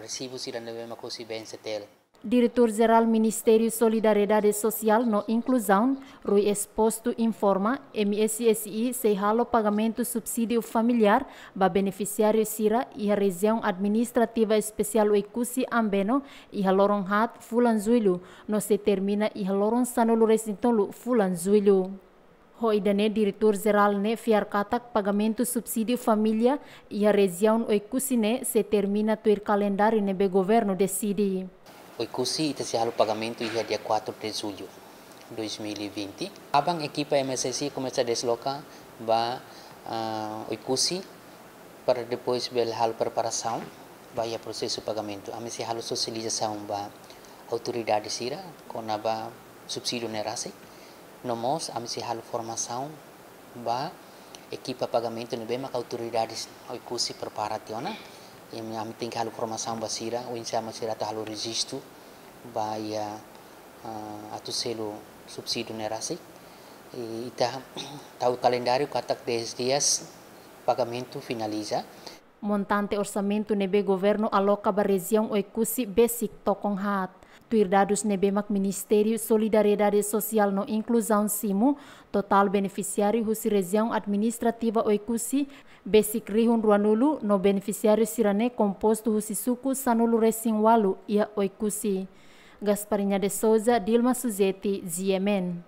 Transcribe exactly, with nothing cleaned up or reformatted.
Resibu sira ne'ebé mak husi B N C T L. Diretór Jerál Ministériu Solidariedade Sosiál no Inkluzaun, Rui Exposto informa, M S S I sei halo pagamentu subsídiu familiár ba benefisiáriu sira iha Rejiaun Administrativa Espesiál Oekusi Ambeno iha loron haat fulan Jullu, no sei termina iha loron sanulu-resin-tolu fulan Jullu. Ho ida-ne'e Diretór Jerál ne'e fiar katak pagamentu subsídiu família iha rejiaun Oekusi ne'e sei termina tuir kalendáriu ne'ebé governu deside. Oekusi ita sei halo pagamentu iha dia quatro de julho dois mil e vinte. Aban ekipa M S S I komesa desloka ba ah, Oekusi para depois bele halo preparasaun ba iha prosesu pagamentu. Ami sei halo sosializasaun ba autoridade sira kona-ba subsídiu ne'e rasik. No mós ami sei halo formasaun ba ekipa pagamentu ne'ebé mak autoridades Oekusi prepara tiha ona. I ami tenke halo formasaun ba sira, oinsá mak sira atu halo rejistu ba iha ah, atu selu subsídiu ne'e rasik. I ita tau kalendáriu katak dez dias pagamentu finaliza. Montante orsamentu ne'ebé governu aloka ba rejiaun Oekusi besik tokon haat. Tuir dadus ne'ebé mak Ministériu Solidariedade Sosiál no Inkluzaun simu, totál benefisiáriu husi Rejiaun Administrativa Oekusi besik rihun ruanulu no benefisiáriu sira-ne'e kompostu husi suku sanulu-resin-ualu iha Oekusi. Gasparinha de Souza, Dilma Suzeti, G M N.